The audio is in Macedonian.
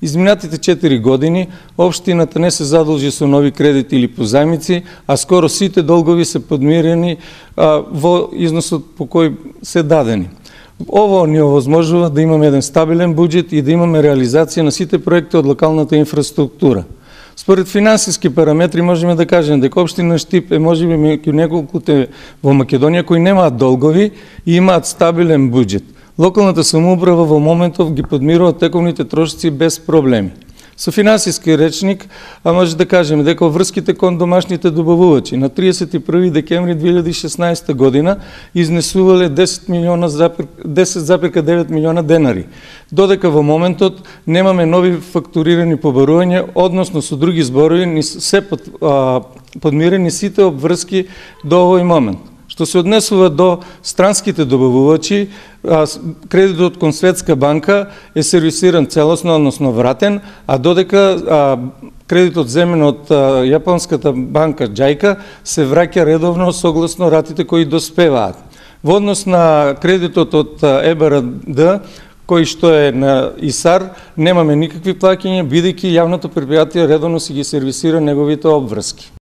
Изминатите 4 години општината не се задолжи со нови кредити или позајмици, а скоро сите долгови се подмирени во износот по кој се дадени. Ово ни овозможува да имаме еден стабилен буџет и да имаме реализација на сите проекти од локалната инфраструктура. Според финансиски параметри можеме да кажеме дека општина Штип е можеби меѓу неколкуте во Македонија кои немаат долгови и имаат стабилен буџет. Локалната самоуправа во моментов ги подмирува тековните трошоци без проблеми. Со финансиски речник, може да кажеме дека врските кон домашните добавувачи на 31 декември 2016 година изнесувале 10,9 милиона денари. Додека во моментот немаме нови фактурирани побарувања, односно со други зборови ни се подмирени сите обврски до овој момент. Што се однесува до странските добавувачи, кредитот кон Светска банка е сервисиран целосно, односно вратен, а додека кредитот земен од јапонската банка Џајка се враќа редовно согласно ратите кои доспеваат. Во однос на кредитот од ЕБРД, кој што е на ИСАР, немаме никакви плаќања, бидејќи јавното предпријатие редовно си ги сервисира неговите обврски.